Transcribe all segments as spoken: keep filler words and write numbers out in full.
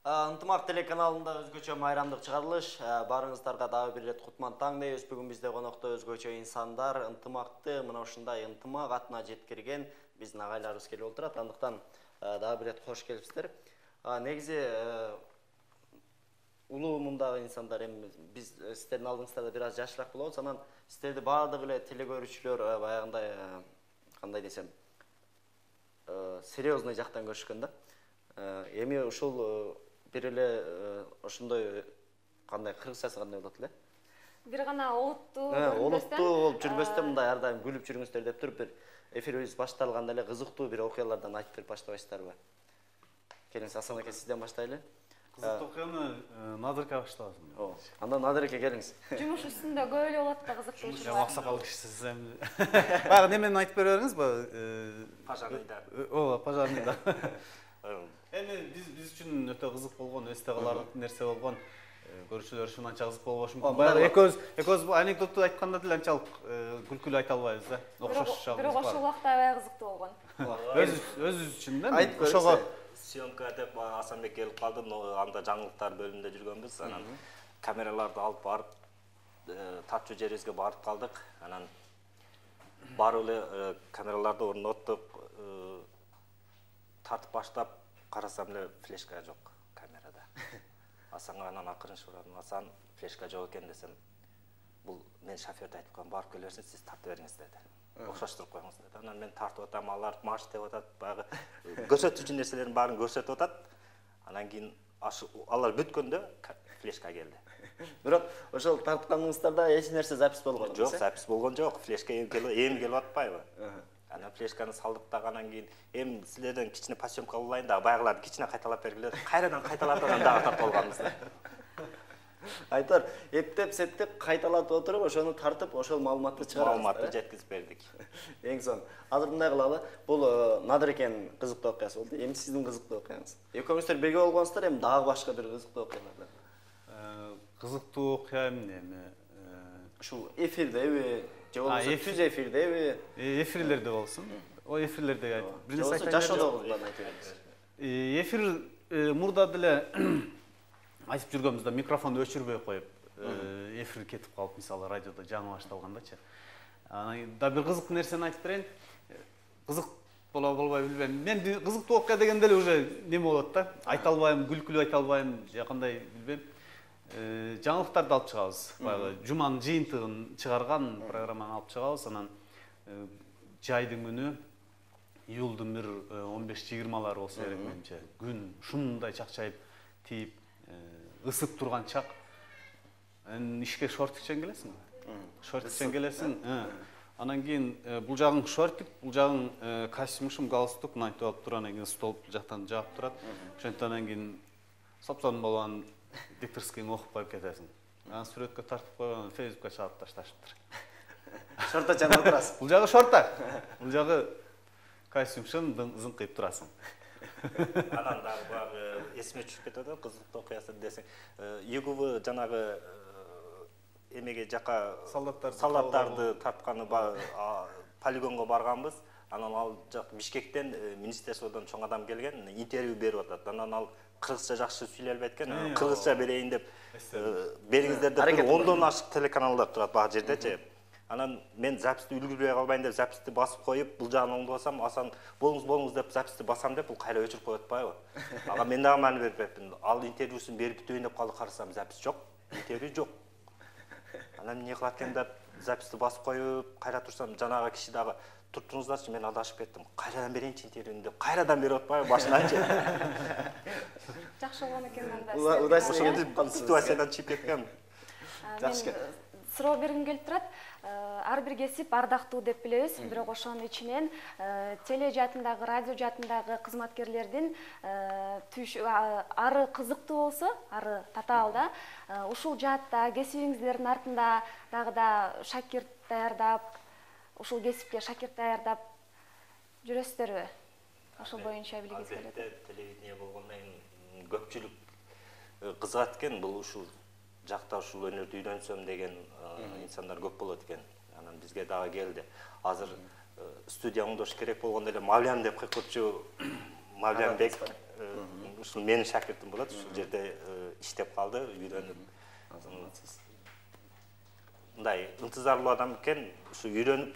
Ынтымак телеканалында өзгөчө майрамдык чыгарылыш. Барыңыздарга дагы бир ирет кутман таң дейбиз. Бүгүн бизде конокто өзгөчө инсандар, ынтымакты мына ушундай ынтымак атына жеткирген биздин агайларыбыз келип отурат. Андыктан дагы бир ирет кош келипсиздер. Негизи улуу мундагы инсандар эми биз сиздердин алдыңыздарда бир аз жашыраак болобуз. Анан сиздерди баардык эле телекөрүүчүлөр баягындай кандай десем, серьезный жактан көрүшкөн да. Эми ушул бир эле ошондой кандай кыргызчасы кандай болот эле? Бир гана олуттуу олуттуу болуп жүрбөстө мындай ар дайым күлүп жүрүңүздөр деп туруп бир эфирибиз башталганда эле кызыктуу бир окуялардан айтып берип баштабайсыздарбы? Келиңиз, Асан аке, сизден баштайлы. Кызыктуу окуяны Надыр аке баштабасын. Ооба. Андан Надыр аке келиңиз. Жумуш үстүндө көп эле болот да кызыктуу учурлар. Аксакал кишисиз эми. Баягы немени айтып бере бериңиз, пожарныйдар. Ооба, пожарныйдар. Эми биз биз үчүн өтө кызык болгон, эсте каларлык нерсе болгон. Көрүүчүлөр үчүн анча кызык болбошу мүмкүн. Баягы экөөбүз экөөбүз бул анекдотту айтканда деле анчалык күлкүлүү айта албайбыз да. Окшош жагыбыз бар. Бирок ошол убакта аябай кызыктуу болгон. Өзүбүз үчүн да. Ошого съемка деп Асанбек келип калды, анда жаңылыктар бөлүмүндө жүргөнбүз. Анан камераларды алып барып, тартчу жерибизге барып калдык. Анан барып эле камераларды орноттук, тартып баштап карасам эле флешка жок камерада. Асанга анан акырын сурадым. Асан, флешка жок экен десем, бул мен шоферди айтып коем, барып келе берсин, сиз тартып бериңиз деди. Окшоштуруп коюңуз деди. Анан мен тартып атам, алар марш деп атат, баягы көрсөтүүчү нерселердин баарын көрсөтүп атат. Анан кийин алар бүткөндө флешка келди. Бирок ошол тартканыңыздарда эч нерсе запись болгон эмес? Жок, запись болгон жок. Флешка эми келип атпайбы? Анан флешканы салдык дагы, анан кийин эми силерден кичине посъемка алайын да, баягыларды кичине кайталап бергиле. Кайрадан кайталатып анан дагы тартып алганбыз да. Айтор, эптеп септеп кайталатып отуруп, ошону тартып, ошол маалыматты чыгарабыз. Маалыматты жеткизип бердик. Эң сонун. Азыр мындай кылалы. Бул Надыр экенин кызыктуу окуясы болду. Эми сиздин кызыктуу окуяңыз. Экөөңүздөр бирге болгонсуздар, эми дагы башка бир кызыктуу окуялар. Кызыктуу окуя эми ушул эфирдеби, же болбосо түз эфирдеби? Эфирлерде болсун. О эфирлерде айтып. Биринчи айтып жашоодогундан айтып бериңиз. Эфир мурда деле айтып жүргөнбүздө микрофонду өчүрбөй коюп, эфир кетип калып, мисалы радиодо жаңы башталгандачы. Анан да бир кызык нерсени айтып берейин. Кызык боло болбой билбейм. Мен кызыктуу окуя дегенде эле уже неме болот да. Айта албайм, күлкүлүү айта албайм, же кандай билбейм. Жаңылыктарды алып чыгабыз. Баягы жуманын жыйынтыгын чыгарган программаны алып чыгабыз. Анан жайдын күнү июлдун бир он беш жыйырмалары болсо керек менимче. Күн ушундай чакчайып тийип ысып турган чак. Анан ишке шорт кичен келесиңби? Шорт кичен келесиң. Анан кийин бул жагың шортик, бул жагың костюм, галстук, мынтип алып туруп, анан кийин стол жактан жаап турат. Ошондон анан кийин сопсон болгон дикторскийң окуп коюп кетесиң. Анан сүрөткө тартып койгон, Фейсбукка чаап ташташыптыр. Шортачан отурасың. Бул жагы шорта. Бул жагы костюмшын зыңкыйып турасың. Анан дагы баягы эсиме түшүп кетет да, кызыктуу окуясы десең, ЮГВ жанагы эмеге жака солдаттарды тартканы полигонго барганбыз. Анан ал жак Бишкектен министерстводон чоң адам келген, интервью берип атат. Анан ал кыргызча жакшы сүйлөй албайт экен. Кыргызча берейин деп бериңиздер деп ондон ашык телеканалдар турат баа жердечи. Анан мен записти үлгүрбөй калбайын деп записти басып коюп, бул жагын оңдосам, Асан болуңуз болуңуз деп записти басам деп, бул кайра өчүрүп коюп атпайбы? Ага мен дагы маани берип берипмин. Ал интервьюсун берип бүтөйүн деп калды, карасам запис жок, интервью жок. Анан эмне кылат экен деп записти басып коюп, кайра турсам, жанагы киши дагы туруңуздарчы, мен адашып кеттим. Кайрадан берейинчи интервьюну деп, кайрадан берип атпайбы башынанчы. Жакшы болгон экен анда. Удачный ситуациядан чыгып кеткем. Жакшы. Суроо бергим келип турат. Ар бир кесип ардактуу деп билебиз, бирок ошонун ичинен теле жаатындагы, радио жаатындагы кызматкерлердин ары кызыктуу болсо, ары татаал да. Ушул жаатта кесибиңиздердин артында дагы да шакирт даярдап, ушул кесипке шакирт даярдап жүрөсүздөрбү? Ошол боюнча билгиңиз келет. Албетте, телевидение болгондон кийин көпчүлүк кызыгат экен, бул ушул жакта ушул өнөрдү үйрөнсөм деген инсандар көп болот экен. Анан бизге дагы келди. Азыр студия оңдош керек болгондо эле Мавлян деп кыйкырчу Мавлянбек ушул менин шакиртим болот, ушул жерде иштеп калды, үйрөнүп. Мындай ынтызарлуу адам экен, ушу үйрөнүп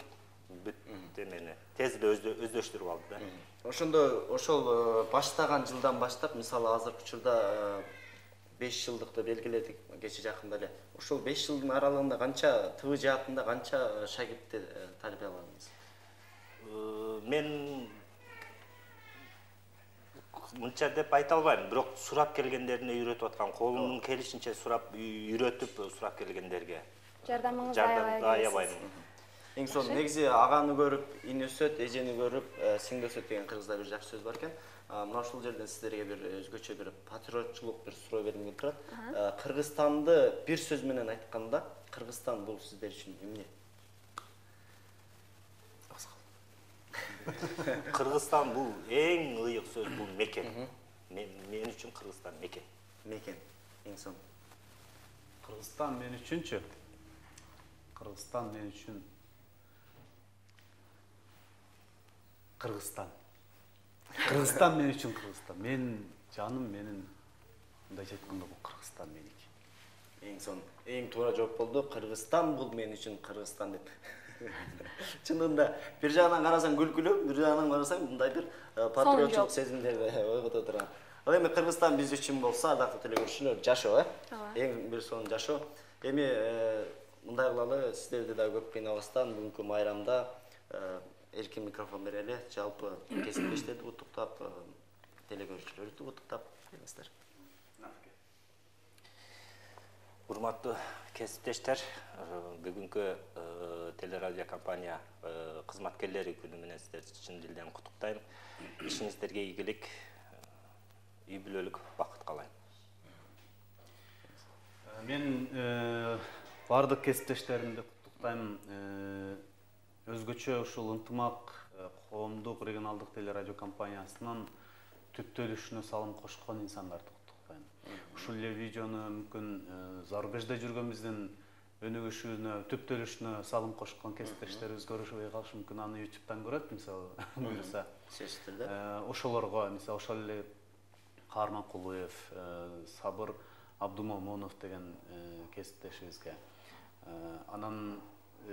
бүт эмени тез эле өздөштүрүп алды да. Ошондо ошол баштаган жылдан баштап, мисалы азыркы учурда беш жылдыкты белгиледик кечээ жакында эле. Ошол беш жылдын аралыгында канча ТВ жаатында канча шагиртти тарбияладыңыз? Мен мынча деп айта албайм, бирок сурап келгендерине үйрөтүп аткан, колумдун келишинче сурап үйрөтүп сурап келгендерге жардамыңызды аябайм. Эң сонун негизи аганы көрүп, ини өсөт, эжени көрүп, сиңди өсөт деген кыргызда бир жакшы сөз бар экен. Мына ушул жерден сиздерге бир өзгөчө бир патриотчулук бир суроо бергим келип турат. Кыргызстанды бир сөз менен айтканда, Кыргызстан бул сиздер үчүн эмне? Кыргызстан бул эң ыйык сөз, бул мекен. Мен үчүн Кыргызстан мекен. Мекен. Эң сонун. Кыргызстан мен үчүнчү? Кыргызстан мен үчүн Кыргызстан. Кыргызстан мен үчүн Кыргызстан. Мен жаным менин мындайча айтканда бул Кыргызстан меники. Эң сонун. Эң туура жооп болду. Кыргызстан бул мен үчүн Кыргызстан деп. Чынында бир жагынан карасаң күлкүлүү, бир жагынан карасаң мындай бир патриотчулук сезимдерди ойгото турган. Ал эми Кыргызстан биз үчүн болсо, ардактуу телекөрүүчүлөр, жашоо, э? Эң бир сонун жашоо. Эми мындай кылалы, сиздерди да көп кыйнабастан бүгүнкү майрамда эркин микрофон берели, жалпы кесиптештерди куттуктап, телекөрүүчүлөрдү куттуктап келиңиздер. Урматтуу кесиптештер, бүгүнкү телерадио компания кызматкерлери күнү менен сиздерди чын дилден куттуктайм. Ишиңиздерге ийгилик, үй бүлөлүк бакыт каалайм. Мен бардык кесиптештеримди куттуктайм. Өзгөчө ушул ынтымак коомдук регионалдык телерадио компаниясынын түптөлүшүнө салым кошкон инсандарды куттуктайм. Ушул эле видеону мүмкүн зарубежде жүргөнүбүздүн өнүгүшүнө, түптөлүшүнө салым кошкон кесиптештерибиз көрүшпөй калышы мүмкүн, аны ютубтан көрөт, мисалы, буюрса. Ошолорго, мисалы, ошол эле Каарман Кулуев, Сабыр Абдумомунов деген кесиптешибизге, анан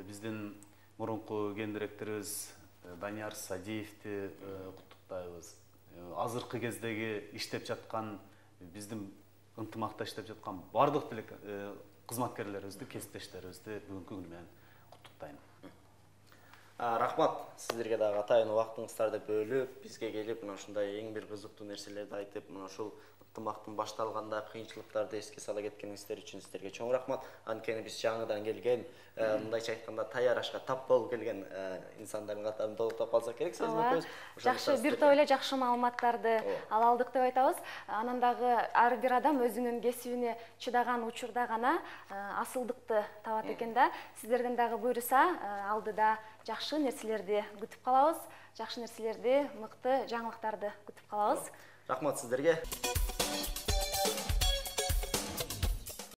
биздин мурунку ген директорубуз Данияр Садиевди куттуктайбыз. Азыркы кездеги иштеп жаткан, биздин ынтымакта иштеп жаткан бардык кызматкерлерибизди, кесиптештерибизди бүгүнкү күнү менен куттуктайм. Рахмат, сиздерге дагы атайын убактыңыздарды бөлүп, бизге келип, мына ушундай эң бир кызыктуу нерселерди айтып, мына ушул ынтымактын башталганда кыйынчылыктарды эске сала кеткениңиздер үчүн сиздерге чоң рахмат. Анткени биз жаңыдан келген, мындайча айтканда таяр ашка тап болуп келген инсандардын катарын толуктап калсак керек, сезмекпиз. Жакшы, бир топ эле жакшы маалыматтарды ала алдык деп айтабыз. Анан дагы ар бир адам өзүнүн кесибине чыдаган учурда гана асылдыкты табат экен да. Сиздерден дагы буйруса, алдыда жакшы нерселерди күтүп калабыз. Жакшы нерселерди, мыкты жаңылыктарды күтүп калабыз. Рахмат сиздерге.